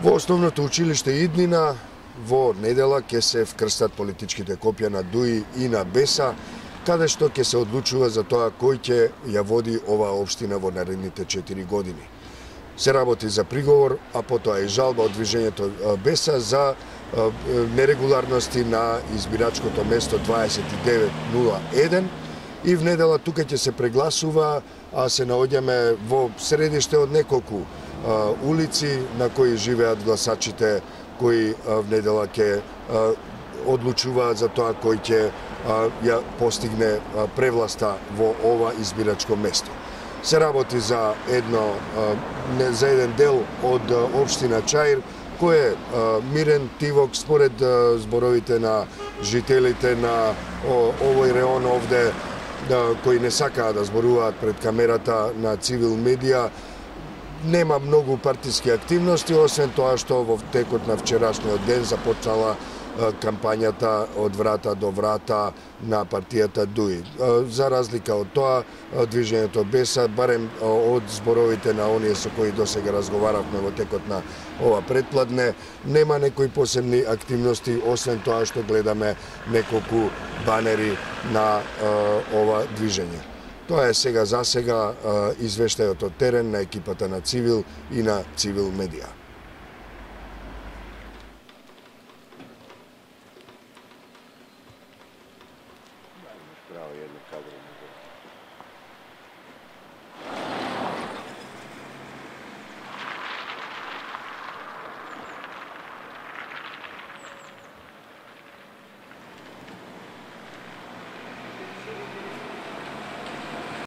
Во основното училиште Иднина во недела ќе се вкрстат политичките копија на ДУИ и на БЕСА, каде што ќе се одлучува за тоа кој ќе ја води оваа општина во наредните 4 години. Се работи за приговор, а потоа и жалба од движењето БЕСА за нерегуларности на избирачкото место 2901 и в недела тука ќе се прегласува, а се наоѓаме во средиште од неколку улици на кои живеат гласачите кои в недела ќе одлучуваат за тоа кој ќе ја постигне превласта во ова избирачко место. Се работи за еден дел од општина Чаир, кој е мирен, тивок, според зборовите на жителите на овој реон овде, кои не сакаат да зборуваат пред камерата на Цивил медија. Нема многу партиски активности, освен тоа што во текот на вчерашниот ден започнала кампањата од врата до врата на партијата ДУИ. За разлика од тоа, движењето БЕСА, барем од зборовите на оние со кои досега разговаравме во текот на ова предпладне, нема некои посебни активности, освен тоа што гледаме неколку банери на ова движење. Тоа е сега за сега извештајот од терен на екипата на Цивил и на Цивил медија.